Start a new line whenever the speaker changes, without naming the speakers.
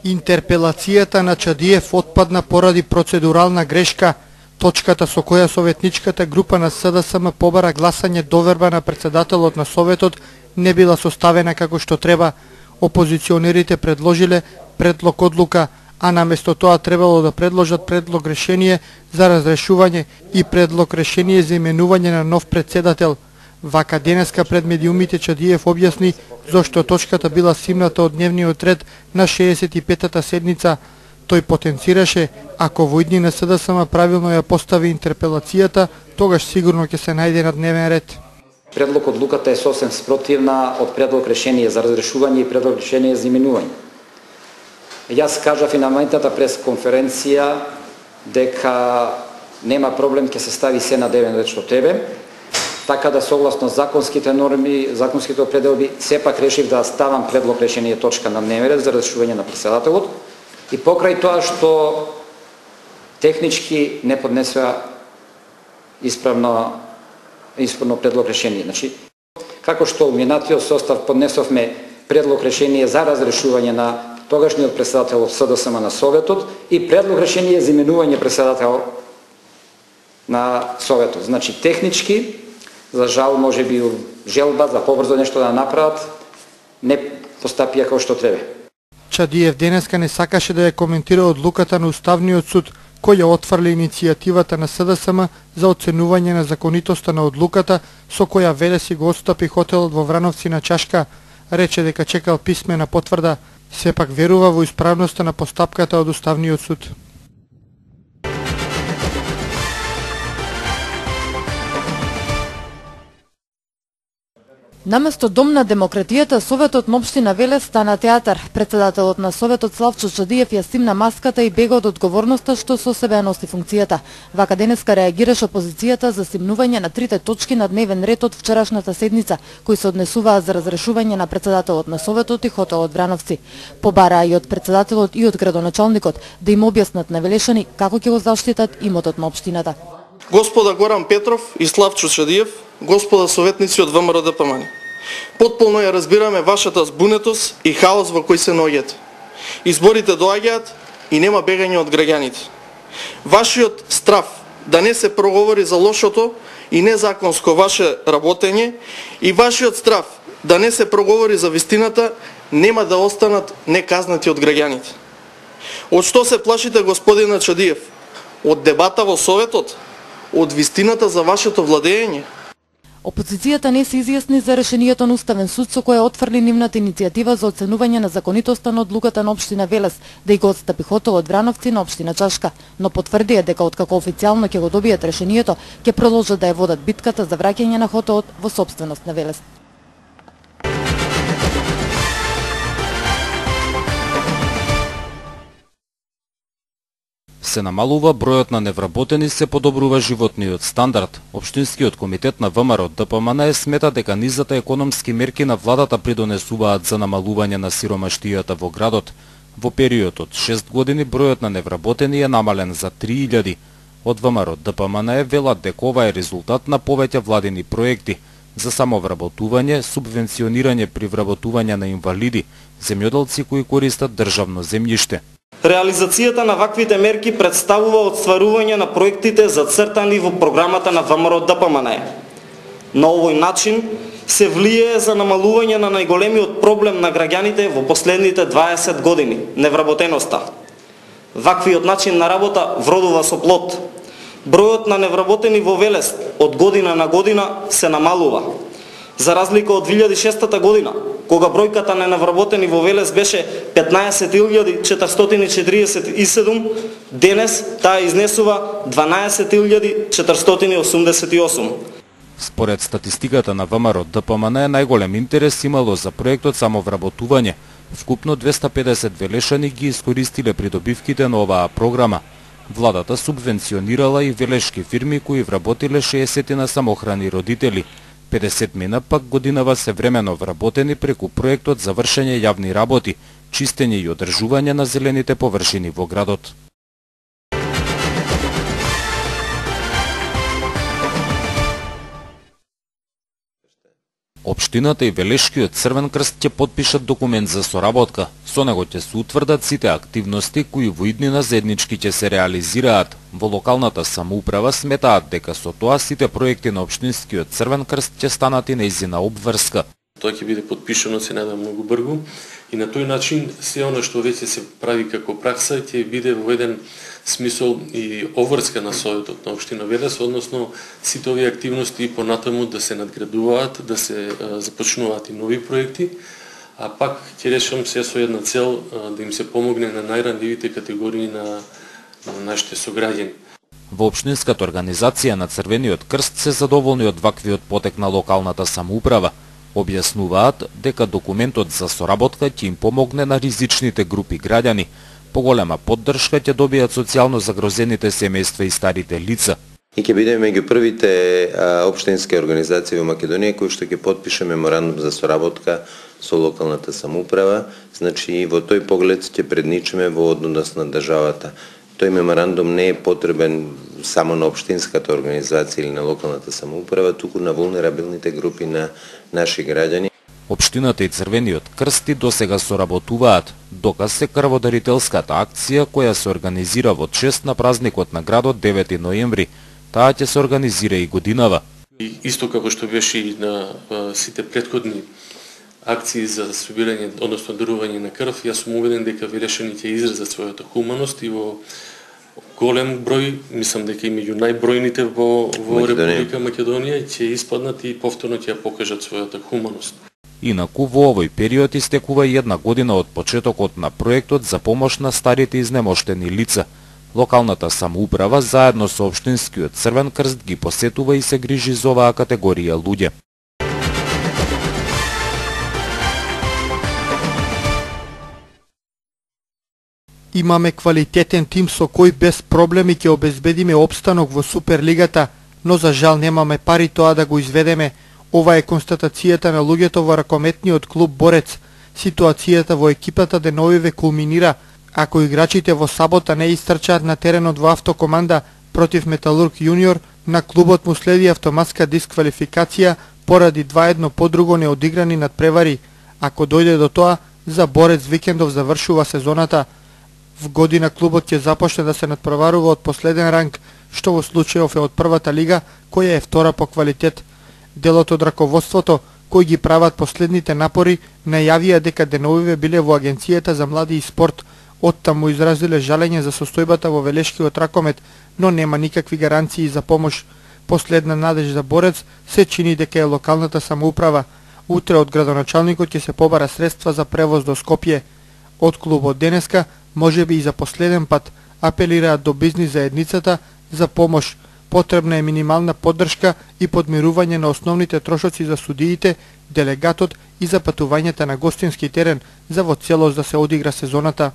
Интерпелацијата на Чадиев отпадна поради процедурална грешка. Точката со која советничката група на СДСМ побара гласање доверба на председателот на Советот не била составена како што треба. Опозиционерите предложиле предлог одлука, а наместо тоа требало да предложат предлог решение за разрешување и предлог решение за именување на нов председател. Вака денеска пред медиумите Чадиев објасни зошто точката била симната од дневниот ред на 65-та седница. Тој потенцираше, ако во иднина СДСМ правилно ја постави интерпелацијата, тогаш сигурно ќе се најде на дневен ред.
Предлог одлуката е сосем спротивна од предлог решение за разрешување и предлог решение за именување. Јас кажав и на моментната пресконференција дека нема проблем, ќе се стави се на дневен ред што тебе, така да согласно законските норми, законските определби, сепак решив да ставам предлог решение точка на дневен ред за разрешување на председателот и покрај тоа што технички не поднесува исправно предлог решение. Значи, како што у минатиот состав поднесовме предлог решение за разрешување на тогашниот председател СДСМ на Советот и предлог решение за именување председател на Советот. Значи, технички, за жал, може би желба за побрзо нешто да направат, не постапија како што треба.
Чадиев денеска не сакаше да ја коментира одлуката на Уставниот суд, кој ја отфрли иницијативата на СДСМ за оценување на законитоста на одлуката со која Велес си го отстапи хотелот во Врановци на Чашка. Рече дека чекал писмена потврда, сепак верува во исправноста на постапката од Уставниот суд.
Наместо Дом на демократијата, Советот на општина Велес стана театар. Председателот на Советот Славчо Чадиев ја симна маската и бега од одговорноста што со себе носи функцијата. Вака денеска реагираше опозицијата за симнување на трите точки на дневен ред од вчерашната седница, кои се однесуваа за разрешување на председателот на Советот и хотелот Врановци. Побараа и од председателот и од градоначалникот да им објаснат на велешани како ќе го заштитат имотот на општината.
Господа Горан Петров и Славчо Чадиев, господа советници од ВМРО ДПМН, потполно ја разбираме вашата збунетост и хаос во кој се наоѓате. Изборите доаѓаат и нема бегање од граѓаните. Вашиот страф да не се проговори за лошото и незаконско ваше работење и вашиот страф да не се проговори за вистината нема да останат неказнати од граѓаните. Од што се плашите, господина Чадиев? Од дебата во Советот? Од вистината за вашето владење?
Опозицијата не се изјасни за решението на Уставен суд со кое отфрли нивната иницијатива за оценување на законитоста на одлуката на општина Велес да го отстапи хотелот Врановци на општина Чашка, но потврдија дека откако официјално ќе го добијат решението, ќе продолжат да ја водат битката за враќање на хотелот во сопственост на Велес.
Се намалува бројот на невработени, се подобрува животниот стандард. Општинскиот комитет на ВМРО ДПМН смета дека низата економски мерки на владата придонесуваат за намалување на сиромаштијата во градот. Во период од 6 години бројот на невработени е намален за 3000. Од ВМРО ДПМН велат дека ова е резултат на повеќе владини проекти за самовработување, субвенционирање при вработување на инвалиди, земјоделци кои користат државно земјиште.
Реализацијата на ваквите мерки представува отстварување на проектите зацртани во програмата на ВМРО ДПМН. На овој начин се влијае за намалување на најголемиот проблем на граѓаните во последните 20 години – невработеноста. Ваквиот начин на работа вродува со плод. Бројот на невработени во Велес од година на година се намалува. За разлика од 2006 година, кога бројката на невработени во Велес беше 15.447, денес таа изнесува 12.488.
Според статистиката на ВМРО ДПМН најголем интерес имало за проектот самовработување. Вкупно 250 велешани ги искористиле придобивките на оваа програма. Владата субвенционирала и велешки фирми кои вработиле 60 на самохрани родители. 50 мина пак годинава се времено вработени преку проектот за вршење јавни работи, чистење и одржување на зелените површини во градот. Општината и Велешкиот Црвен крст ќе потпишат документ за соработка. Со него ќе се утврдат сите активности кои во иднина заеднички ќе се реализираат. Во локалната самоуправа сметаат дека со тоа сите проекти на Општинскиот Црвен крст ќе станат и нејзина обврска.
Тоа ќе биде подпишано, се надам, многу брзо и на тој начин се оно што веќе се прави како пракса ќе биде во еден смисол и обврска на Советот на Општина Велес, односно сите овие активности понатаму да се надградуваат, да се започнуваат и нови проекти, а пак ќе решам се со една цел да им се помогне на најранливите категории на нашите сограѓани.
Во Општинската организација на Црвениот крст се задоволни од ваквиот потек на локалната самоуправа. Објаснуваат дека документот за соработка ќе им помогне на ризичните групи граѓани. Поголема поддршка ќе добијат социјално загрозените семејства и старите лица.
И ќе бидеме меѓу првите општински организации во Македонија кои што ќе потпише меморандум за соработка со локалната самоуправа. Значи, во тој поглед ќе предничиме во однос на државата. Тој меморандум не е потребен само на општинската организација или на локалната самоуправа, туку на вулнерабилните групи на наши граѓани.
Општината и Црвениот крст и досега соработуваат. Доказ се крводарителската акција која се организира во чест на празникот на градот 9 ноември. Таа ќе се организира и годинава.
И исто како што беше и на сите претходни акции за собирање, односно дарување на крв, јас сум убеден дека Велешани ќе изразат својата хуманост и во голем број, мислам дека и меѓу најбројните во Република Македонија ќе испаднат и повторно ќе ја покажат својата хуманост.
Инаку во овој период истекува и една година од почетокот на проектот за помош на старите изнемоштени лица. Локалната самоуправа заедно со Општинскиот Црвен крст ги посетува и се грижи за оваа категорија луѓе.
Имаме квалитетен тим со кој без проблеми ќе обезбедиме опстанок во Суперлигата, но за жал немаме пари тоа да го изведеме. Ова е констатацијата на луѓето во ракометниот клуб Борец. Ситуацијата во екипата деновиве кулминира ако играчите во сабота не истрчаат на теренот во автокоманда против Металург Јуниор, на клубот му следи автоматска дисквалификација поради 2-1 подруго неодиграни надпревари. Ако дојде до тоа, за Борец викендов завршува сезоната. В година клубот ќе започне да се надпреварува од последен ранг, што во случајов е од првата лига, која е втора по квалитет. Делот од раководството, кои ги прават последните напори, најавија дека деновиве биле во Агенцијата за млади и спорт. Оттаму изразиле жалење за состојбата во велешкиот ракомет, но нема никакви гаранции за помош. Последна надеж за Борец се чини дека е локалната самоуправа. Утре од градоначалникот ќе се побара средства за превоз до Скопје. Од клубот денеска, можеби и за последен пат, апелираат до бизнис заедницата за помош. Потребна е минимална поддршка и подмирување на основните трошоци за судиите, делегатот и за патувањата на гостински терен за во целост да се одигра сезоната.